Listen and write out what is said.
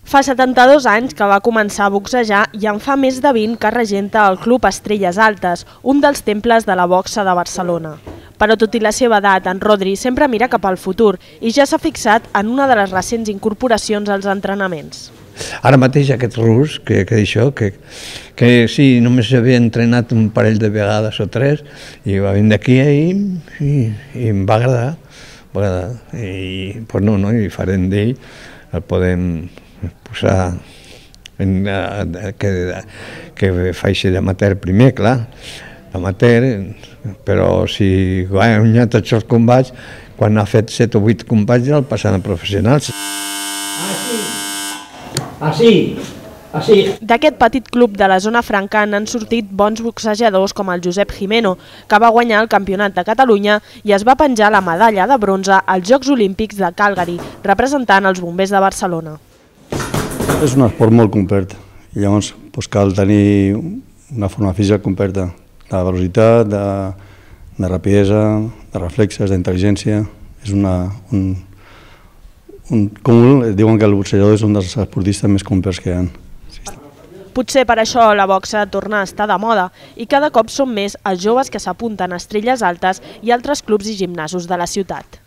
Fa 72 anys que va començar a boxejar i en fa més de 20 que regenta el Club Estrelles Altes, un dels temples de la boxa de Barcelona. Però tot i la seva edat, en Rodri sempre mira cap al futur i ja s'ha fixat en una de les recents incorporacions als entrenaments. Ara mateix aquest rus, que sí, només havia entrenat un parell de vegades o tres i va venir d'aquí i em va agradar. I farem d'ell, el podem posar que faci d'amateur primer, clar, amateur, però si guanya tots els combats, quan ha fet 7 o 8 combats ja el passen a professionals. D'aquest petit club de la zona franca n'han sortit bons boxejadors com el Josep Jimeno, que va guanyar el Campionat de Catalunya i es va penjar la medalla de bronze als Jocs Olímpics de Calgary, representant els bombers de Barcelona. És un esport molt complet i llavors cal tenir una forma física completa, de velocitat, de rapidesa, de reflexes, d'intel·ligència. És un cúmul, diuen que el boxejador és un dels esportistes més complets que hi ha. Potser per això la boxa torna a estar de moda i cada cop són més els joves que s'apunten a Estrelles Altes i altres clubs i gimnasos de la ciutat.